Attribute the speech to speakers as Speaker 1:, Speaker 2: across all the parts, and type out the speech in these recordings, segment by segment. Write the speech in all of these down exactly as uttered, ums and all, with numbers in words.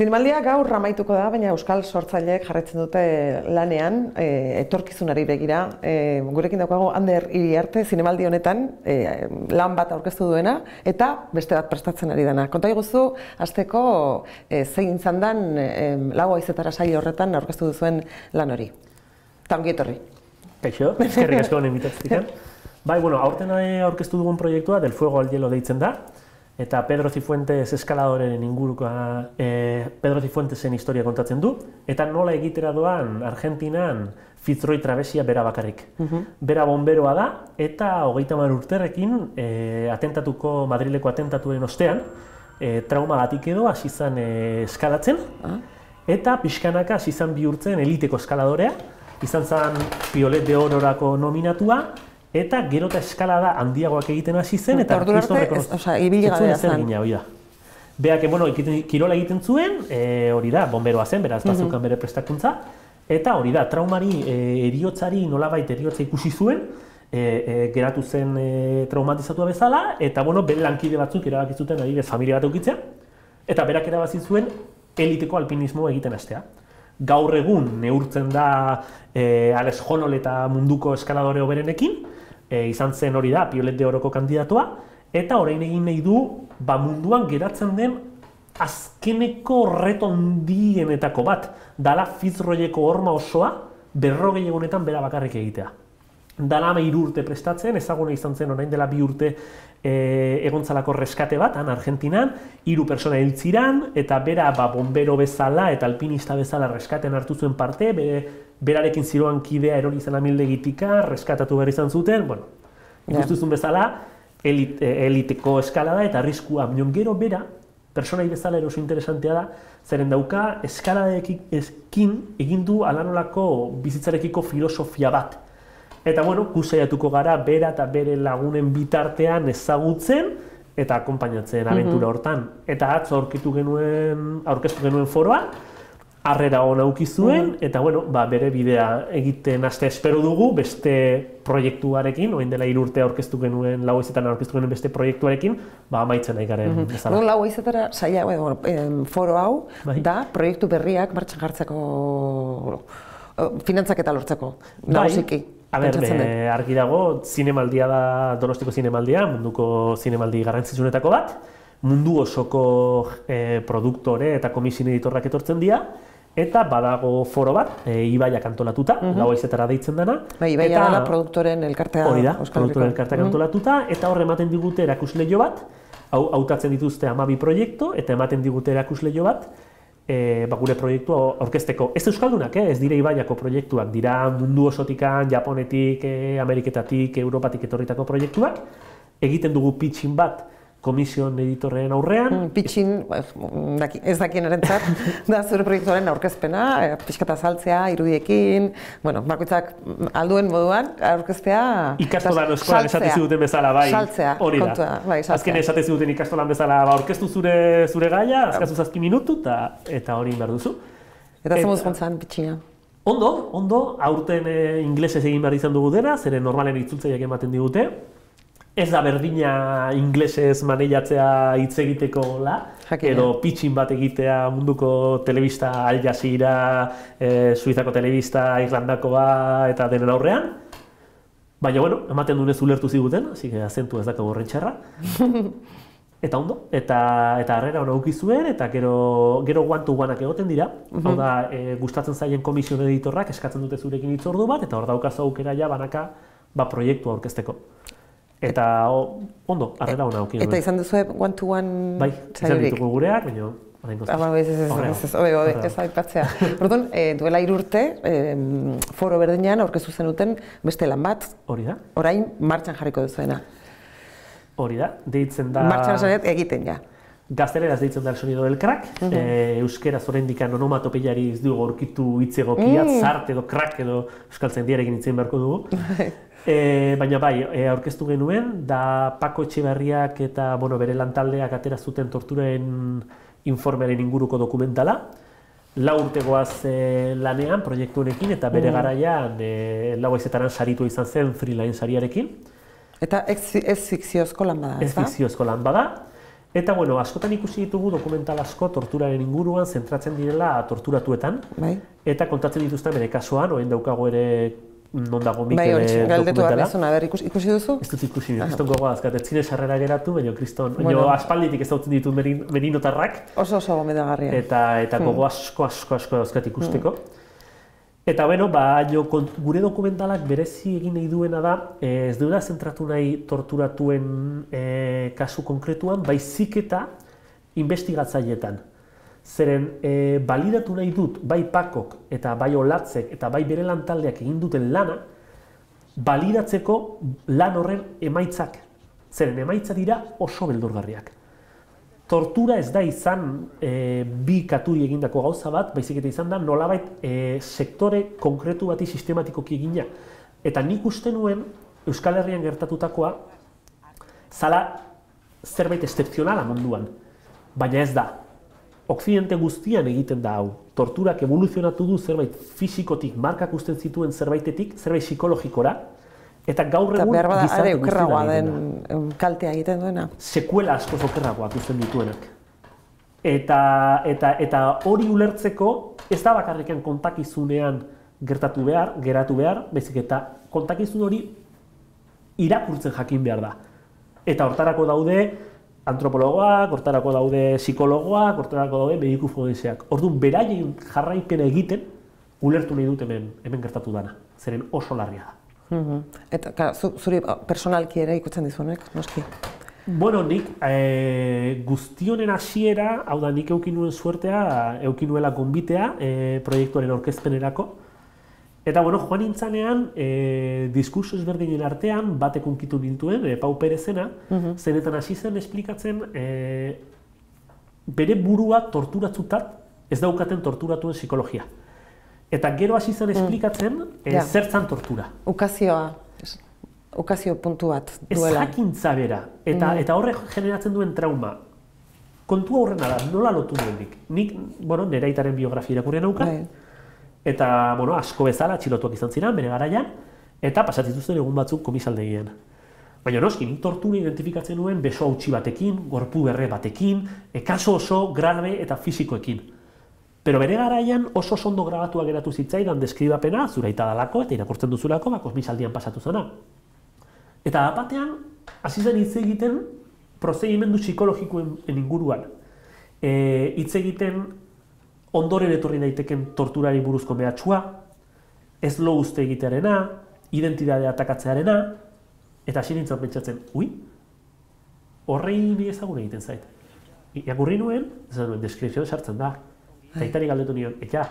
Speaker 1: Zinemaldia gaur amaituko da, baina euskal sortzaileek jarraitzen dute lanean, e, etorkizunari begira. E, gurekin daukago Ander Iriarte zinemaldi honetan e, lan bat aurkeztu duena eta beste bat prestatzen ari dena. Konta iguzu, hasteko e, zein izan dan e, lau haizetara saio horretan aurkeztu duzuen lan hori. Eta ongi etorri.
Speaker 2: Kaixo, eskerrik asko honen bitartean. Bai, bueno, aurten aurkeztu dugun proiektua Del Fuego al Hielo deitzen da. Eta Pedro Cifuentes eskaladoren ingurukoa eh, Pedro Cifuentesen historia kontatzen du, eta nola egitera doan Argentinan Fitzroy trabesia bera bakarrik. Uh-huh. Bera bomberoa da, eta hogeita hamar urterekin eh, atentatuko, Madrileko atentatuen ostean, eh, traumagatik edo hasi zan eh, eskalatzen, uh-huh. eta pixkanaka hasi zan bihurtzen eliteko eskaladorea, izan zan Piolet de Ororako nominatua, eta gero eta eskalada handiagoak egiten hasi zen, eta
Speaker 1: arkisto rekonozitzen. Osa, ibili gabea zen.
Speaker 2: Hori da. Beak, bueno, kirola egiten zuen, e, hori da, bomberoa zen, beraz, bazukan bere prestakuntza, eta hori da, traumari, e, eriotzari, nolabait eriotza ikusi zuen, e, e, geratu zen e, traumatizatua bezala, eta, bueno, bere lankide batzuk erabaki zuten adibidez familia bat eukitzea, eta berak erabaki zuen eliteko alpinismo egiten hastea. Gaur egun neurtzen da e, Alex Honnold eta munduko eskaladore hoberenekin, e, izan zen hori da Piolet de Oroko kandidatua, eta orain egin nahi du ba, munduan geratzen den azkeneko reto handienetako bat, dala Fitzroyeko horma osoa berrogei egunetan bera bakarrik egitea. Dala hiru urte prestatzen, ezaguna izan zen orain dela bi urte e, egontzalako reskate bat, han Argentinan, hiru pertsona hil ziran, eta bera ba, bombero bezala eta alpinista bezala reskaten hartu zuen parte, be, berarekin ziroan kidea erori izan amildegitika, reskatatu behar izan zuten, bueno, ikustuzun bezala, elit, eliteko eskalada eta arriskua, minon gero bera, personai bezala eroso interesantea da, zeren dauka eskaladekin egin du alanolako bizitzarekiko filosofia bat. Eta, bueno, kusaiatuko gara bera eta bere lagunen bitartean ezagutzen eta akonpainatzen abentura hortan. Eta atzo aurkitu genuen, aurkeztu genuen foroa, harrera hona auki zuen, eta, bueno, ba, bere bidea egiten haste espero dugu beste proiektuarekin, orain dela hiru urte aurkeztu genuen, lau haizetan aurkeztu genuen beste proiektuarekin, ba, amaitzen nahi garen bezala.
Speaker 1: Lau haizetara saia, bueno, foro hau da proiektu berriak martxan jartzeko, finantzaketa lortzeko, nagusiki.
Speaker 2: A ber, argi dago, zinemaldia da, Donostiko zinemaldia, munduko zinemaldi garrantzitsuenetako bat, mundu osoko e, produktore eta komisin editorrak etortzen dira, eta badago foro bat, e, Ibaiak antolatuta, uh-huh. lau haizetara deitzen dena.
Speaker 1: Ba, Ibaia dela produktoren elkartea.
Speaker 2: Hori da, produktoren elkarteak uh-huh. antolatuta, eta hor ematen digute erakusleio bat, hau hautatzen dituzte hamabi proiektu, eta ematen digute erakusleio bat, E, ba, gure proiektua aurkezteko. Ez euskaldunak, eh? Ez dire Ibaiako proiektuak, dira mundu osotikan, Japonetik, eh, Ameriketatik, Europatik etorritako proiektuak. Egiten dugu pitchin bat komision editorren aurrean.
Speaker 1: Mm, pitchin, ez dakien erentzat, da zure proiektuaren aurkezpena, pixkata saltzea, irudiekin, bueno, bakoitzak alduen moduan aurkeztea.
Speaker 2: Ikastolan eskolan esate ziguten bezala, bai.
Speaker 1: Saltzea,
Speaker 2: kontua,
Speaker 1: bai, saltzea.
Speaker 2: Azken esate ziguten ikastolan bezala, ba, aurkeztu zure, zure gaia, azkazu zazpi minutu, ta, eta hori behar duzu.
Speaker 1: Eta zemuz gontzan pitchina?
Speaker 2: Ondo, ondo, aurten e, inglesez egin behar izan dugu dena, zeren normalen itzultzaileak ematen digute. Ez da berdina inglesez maneiatzea hitz egiteko la, edo pitchin bat egitea munduko telebista Al Jazeera, e, Suizako telebista, Irlandakoa eta denen aurrean. Baina, bueno, ematen dunez ulertu ziguten, hasi que azentu ez dakago horren txarra. Eta ondo, eta eta harrera hona auki zuen, eta gero gero one-to-oneak egoten dira. Uh-huh. Hau da, e, gustatzen zaien komision editorrak eskatzen dute zurekin hitzordu bat, eta hor daukazu aukera ja banaka ba, proiektua aurkezteko. Eta ondo, harrera hona auki.
Speaker 1: Eta izan duzu one-to-one
Speaker 2: bai, izan ditugu gureak, baina orain gozaz.
Speaker 1: Ah, ez, ez, ez, ez, obe, obe, ez aipatzea. Orduan, duela hiru urte, foro berdinean aurkeztu zenuten beste lan bat.
Speaker 2: Hori da.
Speaker 1: Orain martxan jarriko duzuena.
Speaker 2: Hori da, deitzen da...
Speaker 1: Martxan esanet egiten, ja.
Speaker 2: Gazteleraz deitzen da El Sonido del Crack, uh-huh. e, euskeraz oraindikan onomatopeiari ez dugu aurkitu hitz egokia, mm. zart edo crack edo euskaltzen diarekin hitzein beharko dugu. e, baina bai, e, aurkeztu genuen, da Paco Etxeberriak eta bueno, bere lantaldeak atera zuten torturen informearen inguruko dokumentala. Lau urtegoaz e, lanean, proiektu honekin, eta bere mm. garaian e, lau haizetaran saritu izan zen Freeline sariarekin.
Speaker 1: Eta ez fikziozko lan bada, ez da?
Speaker 2: Ez fikziozko lan bada. Eta, bueno, askotan ikusi ditugu dokumental asko torturaren inguruan zentratzen direla torturatuetan.
Speaker 1: Bai.
Speaker 2: Eta kontatzen dituzten bere kasuan, orain daukago ere non dago
Speaker 1: Bai,
Speaker 2: Mikel
Speaker 1: hori, galdetu behar
Speaker 2: dokumentala.
Speaker 1: nizuna, ber, ikusi, ikusi duzu?
Speaker 2: Ez dut ikusi, kriston gogoa azkat, ez zine sarrera geratu, baina kriston, baina
Speaker 1: Bueno.
Speaker 2: aspalditik ezagutzen ditut merin, merinotarrak.
Speaker 1: Oso oso gomendagarria.
Speaker 2: Eta, eta gogo asko, asko, asko dauzkat ikusteko. Eta, bueno, ba, jo, kont- gure dokumentalak berezi egin nahi duena da, eh, ez duela zentratu nahi torturatuen eh, kasu konkretuan, baizik eta investigatzaileetan. Zeren, eh, balidatu nahi dut, bai Pakok eta bai Olatzek eta bai bere lantaldeak egin duten lana, balidatzeko lan horren emaitzak. Zeren, emaitza dira oso beldurgarriak. Tortura ez da izan e, bi katuri egindako gauza bat, baizik eta izan da nolabait e, sektore konkretu bati sistematikoki egina. Eta nik uste nuen Euskal Herrian gertatutakoa zala zerbait excepzionala munduan, baina ez da. Okzidente guztian egiten da hau. Torturak evoluzionatu du zerbait fisikotik markak usten zituen zerbaitetik, zerbait psikologikora, eta gaur
Speaker 1: Eta
Speaker 2: egun
Speaker 1: behar bada, are,
Speaker 2: gizarte
Speaker 1: okerragoa
Speaker 2: guztira
Speaker 1: den
Speaker 2: egiten da.
Speaker 1: em, kaltea egiten duena.
Speaker 2: Sekuela askoz okerragoak uzten dituenak. Eta, eta, eta hori ulertzeko ez da bakarriken kontakizunean gertatu behar, geratu behar, baizik eta kontakizun hori irakurtzen jakin behar da. Eta hortarako daude antropologoak, hortarako daude psikologoak, hortarako daude mediku forenseak. Orduan, beraien jarraipena egiten, ulertu nahi dut hemen, hemen gertatu dana. Zeren oso larria da.
Speaker 1: Mhm. Eta, ka, zu, zuri personalki ere ikutzen dizunek, noski.
Speaker 2: Bueno, nik e, guztionen hasiera, hau da nik eukin nuen suertea, eukin nuela gonbitea e, proiektuaren aurkezpenerako. Eta, bueno, joan nintzanean, e, diskurso ezberdinen artean, batek unkitu nintuen, e, Pau Perezena, uh-huh. zenetan hasi zen esplikatzen e, bere burua torturatzutat ez daukaten torturatuen psikologia. Eta gero hasi zen esplikatzen e,
Speaker 1: Ja.
Speaker 2: zertzan tortura.
Speaker 1: Ukazioa, es- ukazio puntu bat
Speaker 2: Ez
Speaker 1: duela.
Speaker 2: jakintza bera, eta, eta horrek generatzen duen trauma. Kontua horrena da, nola lotu nuen nik. Nik, bueno, nire aitaren biografia irakurria nauka,
Speaker 1: Bai.
Speaker 2: eta, bueno, asko bezala atxilotuak izan ziren, bere garaian, eta pasatzituzten egun batzuk komisaldegian. Baina noski, nik tortura identifikatzen nuen beso hautsi batekin, gorpu berre batekin, e, kaso oso grabe eta fisikoekin. Pero bere garaian oso ondo grabatua geratu zitzaidan deskribapena, zuraita dalako eta irakurtzen duzulako, ba, komisaldian pasatu zena. Eta apatean, hasi zen hitz egiten prozedimendu psikologikoen inguruan. E, hitz egiten ondoren etorri daiteken torturari buruzko mehatxua, ez lo uste egitearena, identitatea atakatzearena, eta hasi nintzen pentsatzen, ui, horrei ni ezagun egiten zait. Irakurri nuen, esan nuen, deskripzioan sartzen da. Eta itari galdetu nion, eta,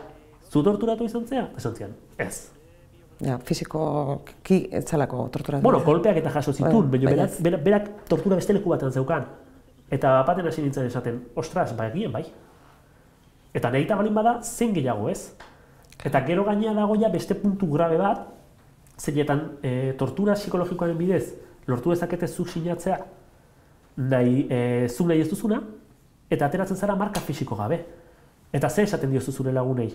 Speaker 2: zu torturatu izan zea? Esan zian, ez.
Speaker 1: Ja, fisikoki ez zalako torturatu.
Speaker 2: Bueno, kolpeak eta jaso zituen,
Speaker 1: Bai,
Speaker 2: baina
Speaker 1: baina
Speaker 2: berak, berak, berak tortura beste leku batean zeukan. Eta baten hasi nintzen esaten, ostras, bai egien bai. Eta nahita balin bada, zen gehiago ez. Eta gero gainea dago ja beste puntu grabe bat, zeinetan e, tortura psikologikoaren bidez lortu dezakete zuk sinatzea nahi, e, zuk nahi ez duzuna, eta ateratzen zara marka fisiko gabe. Eta zer esaten diozu zure lagunei?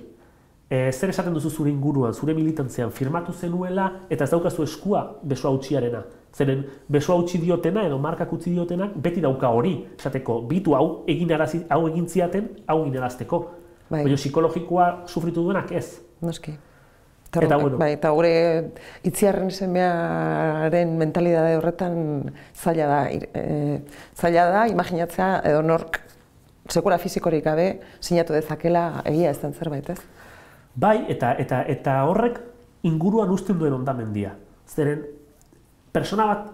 Speaker 2: E, zer esaten duzu zure inguruan, zure militantzean, firmatu zenuela eta ez daukazu eskua besoa hautsiarena. Zeren besoa hautsi diotena edo markak utzi diotenak beti dauka hori, esateko, bitu hau egin arazi, hau egin ziaten, hau egin arazteko.
Speaker 1: Bai.
Speaker 2: Baina psikologikoa sufritu duenak ez.
Speaker 1: Noski.
Speaker 2: Eta, bueno.
Speaker 1: Bai, eta gure itziarren semearen mentalidade horretan zaila da, e, zaila da imaginatzea edo nork sekura fisikorik gabe sinatu dezakela egia ez den zerbait, ez?
Speaker 2: Bai, eta, eta, eta horrek inguruan uzten duen hondamendia. Zeren, persona bat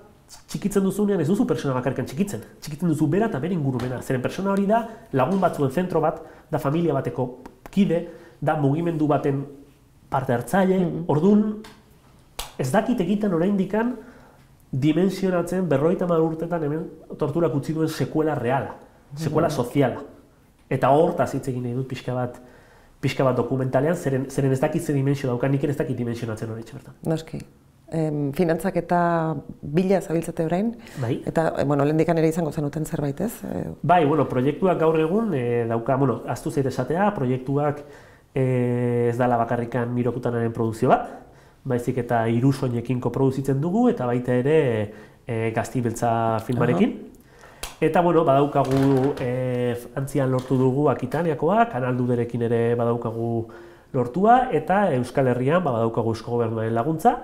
Speaker 2: txikitzen duzunean ez duzu persona bakarkan txikitzen. Txikitzen duzu bera eta bere ingurumena. Zeren persona hori da lagun batzuen zentro bat, da familia bateko kide, da mugimendu baten parte hartzaile. Mm. Orduan, ez dakit egiten oraindikan dimensionatzen berrogeita hamar urtetan hemen torturak utzi duen sekuela reala, sekuela soziala. Eta hortaz hitz egin nahi dut pixka bat, pixka bat dokumentalean, zeren, zeren ez dakit ze dimensio dauka, nik ez dakit dimensionatzen hori bertan.
Speaker 1: Noski. Em, finantzak eta bila zabiltzate orain,
Speaker 2: Bai.
Speaker 1: eta, e, bueno, lehendikan ere izango zenuten zerbait, ez? E,
Speaker 2: Bai, bueno, proiektuak gaur egun e, dauka, bueno, ahaztu zait esatea, proiektuak e, ez dala bakarrikan Mirokutanaren produkzio bat, baizik eta hiru soinekin koproduzitzen dugu, eta baita ere e, Gazti Beltza filmarekin. Eta, bueno, badaukagu e, Frantzian lortu dugu Akitaniakoa, Kanal Duderekin ere badaukagu lortua, eta Euskal Herrian ba, badaukagu Eusko Gobernuaren laguntza.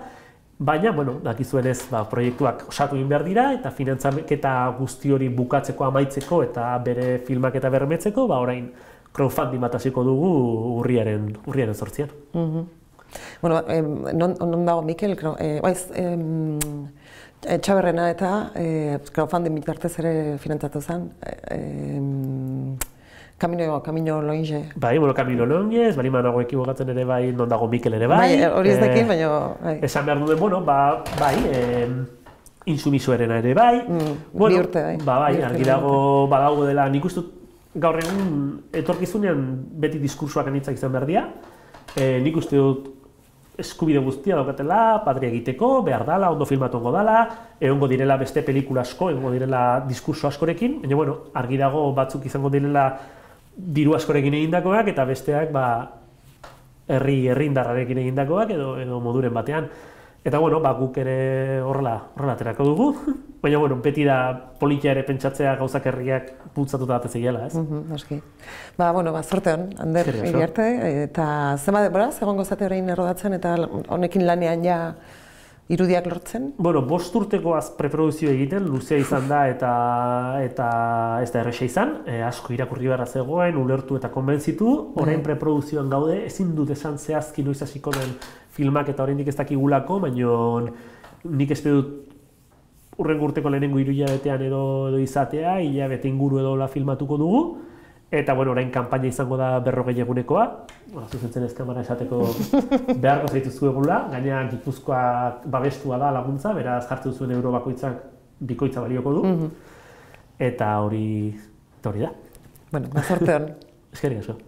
Speaker 2: Baina, bueno, dakizuenez, ba, proiektuak osatu egin behar dira, eta finantzaketa guzti hori bukatzeko, amaitzeko, eta bere filmak eta bermetzeko, ba, orain crowdfunding bat hasiko dugu urriaren, urriaren zortzian.
Speaker 1: Mm-hmm. Bueno, eh, non, non dago, Mikel, eh, baiz, eh, Txaberrena eta eh, crowdfunding bitartez ere finantzatu zen, eh, Camino, Camino Longe.
Speaker 2: Bai, bueno, Camino Longe, bari manago ekibokatzen ere bai, non dago Mikel ere bai.
Speaker 1: Bai, hori ez dekin, baina... Bai.
Speaker 2: Esan behar duen, bueno, ba, bai, eh, Insumisoerena ere bai.
Speaker 1: Mm,
Speaker 2: bueno,
Speaker 1: bi urte, bai.
Speaker 2: Ba, bai,
Speaker 1: Bi urte,
Speaker 2: argi dago badago dela, nik uste gaur egun etorkizunean beti diskursoak anitzak izan behar dira. Eh, nik uste dut eskubide guztia daukatela, patria egiteko, behar dala, ondo filmatongo dala, egongo direla beste pelikula asko, egongo direla diskurso askorekin, baina, bueno, argi dago batzuk izango direla diru askorekin egindakoak eta besteak ba herri herrindarrarekin egindakoak edo edo moduren batean. Eta bueno, ba guk ere horrela, horrela aterako dugu. Baina bueno, beti da politia ere pentsatzea gauzak herriak bultzatuta bat ezegiela, ez?
Speaker 1: Mhm, noski. Ba bueno, ba sorte on, Ander Iriarte eta zenbat denbora egongo zate orain errodatzen eta honekin lanean ja irudiak lortzen?
Speaker 2: Bueno, bost urtekoaz preprodukzio egiten, luzea izan da eta eta ez da erresa izan, e, asko irakurri beharra zegoen, ulertu eta konbentzitu, orain preprodukzioan gaude, ezin dut esan zehazki noiz hasiko den filmak eta oraindik ez dakigulako, baina nik espero dut hurrengo urteko lehenengo hiru hilabetean edo, edo izatea, hilabete inguru edo la filmatuko dugu. Eta, bueno, orain kanpaina izango da berrogei egunekoa, zuzentzen ez kamara esateko beharko zaituzue egula, gaina Gipuzkoa babestua da laguntza, beraz jartzen zuen euro bakoitzak bikoitza balioko du, eta hori, eta hori da.
Speaker 1: Bueno, ba, sorte hon.
Speaker 2: Eskerrik asko.